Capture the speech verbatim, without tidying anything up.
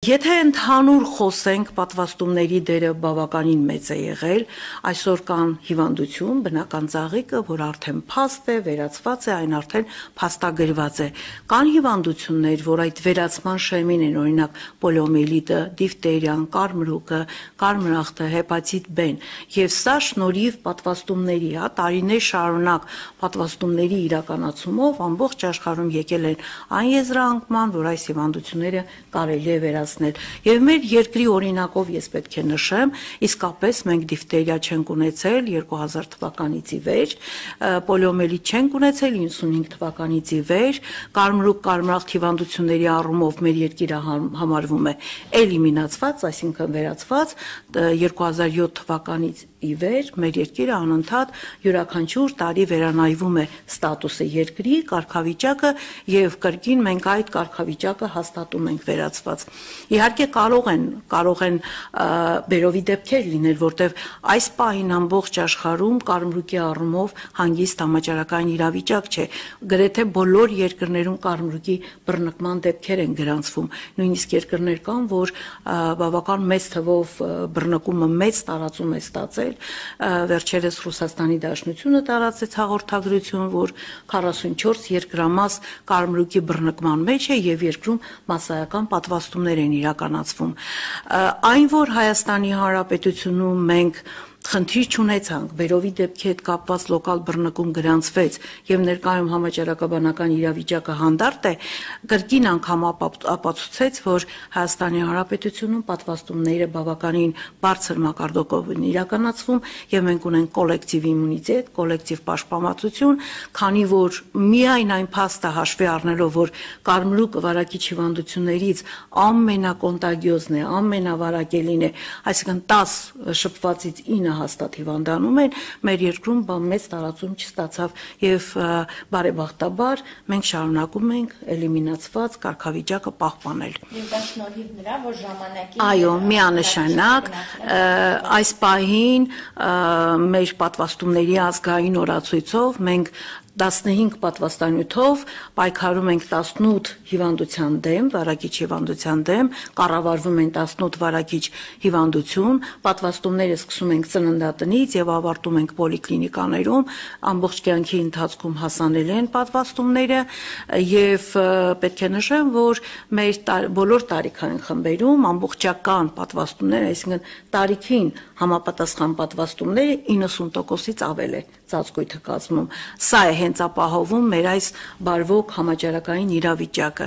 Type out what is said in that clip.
Եթե ընդհանուր խոսենք, պատվաստումների դերը բավականին մեծ է եղել, այսօր կան հիվանդություն, բնական ծաղիկը, որ արդեն փաստ է, վերացված է, այն արդեն փաստագրված է։ Կան հիվանդություններ, որ այդ վերացման շեմին են, օրինակ պոլիոմիելիտը, դիֆտերիան, կարմրուկը, կարմրախտը, հեպատիտ B-ն, եւ սա շնորհիվ պատվաստումների, հա, տարիներ շարունակ պատվաստումների իրականացումով ամբողջ աշխարհում եկել են այն եզրահանգման, որ այս հիվանդությունները կարելի է վերացնել։ Եվ մեր երկրի օրինակով ես պետք է նշեմ, իսկապես մենք դիֆտերիա չենք ունեցել երկու հազար թվականից ի վեր, պոլիոմիելիտ չենք ունեցել իննսունհինգ թվականից ի վեր, կարմրուկ կարմրախտ հիվանդությունների առումով մեր երկիրը համարվում է էլիմինացված, այսինքն վերացված, երկու հազար յոթ թվականից ի վեր մեր երկիրը անընդհատ յուրաքանչյուր տարի վերանայվում է ստատուսը երկրի, կարգավիճակը եւ կրկին մենք այդ կարգավիճակը հաստատում ենք վերացված։ Իհարկե կարող են կարող են բերովի դեպքեր լինել, որտեղ այս պահին ամբողջ աշխարհում կարմրուկի առումով հանգիստ համաճարակային իրավիճակ չէ։ Գրեթե բոլոր երկրներում կարմրուկի բռնկման դեպքեր են գրանցվում։ Նույնիսկ երկրներ կան, որ բավական մեծ թվով բռնկումը մեծ տարածում է ստացել։ Վերջերս Ռուսաստանի Դաշնությունը տարածեց հաղորդագրություն, որ քառասունչորս երկրամաս կարմրուկի բռնկման մեջ է եւ երկրում մասսայական պատվաստումներ են իրականացվում։ Այն, որ Հայաստանի Հանրապետությունում մենք խնդիր չունեցանք, բերովի դեպքի հետ կապված լոկալ բռնկում գրանցվեց եւ ներկայում համաճարակաբանական իրավիճակը հանդարտ է, կրկին անգամ ապացուցեց, որ Հայաստանի Հանրապետությունում պատվաստումները բավականին բարձր մակարդակով են իրականացվում եւ մենք ունենք կոլեկտիվ իմունիտետ, կոլեկտիվ պաշտպանվածություն, քանի որ միայն այն փաստը հաշվի առնելով, որ կարմրուկը վարակիչ հիվանդություններից ամենակոնտագիոզն է, ամենավարակելին է, այսինքն տաս շփվածից ինը հաստատ հիվանդանում են, մեր երկրում բան մեծ տարածում չստացավ եւ բարեբախտաբար մենք շարունակում ենք էլիմինացված կարգավիճակը պահպանել։ Եվ դա շնորհիվ նրա, որ ժամանակին Այո, միանշանակ այս պահին մեր պատվաստումների ազգային օրացույցով մենք տասնհինգ պատվաստանյութով պայքարում ենք տասնութ հիվանդության դեմ, վարակիչ հիվանդության դեմ, կառավարվում են տասնութ վարակիչ հիվանդություն, պատվաստումները սկսում ենք ծննդատնից եւ ավարտում ենք պոլիկլինիկաներում, ամբողջ կյանքի ընթացքում հասանելի են պատվաստումները եւ պետք է նշեմ, որ մեր բոլոր տարիքային խմբերում ամբողջական պատվաստումները, այսինքն տարիքին համապատասխան պատվաստումները իննսուն տոկոսից ավել է ծածկույթը կազմում։ Սա է հենց ապահովում մեր այս բարվոք համաճարակային իրավիճակը։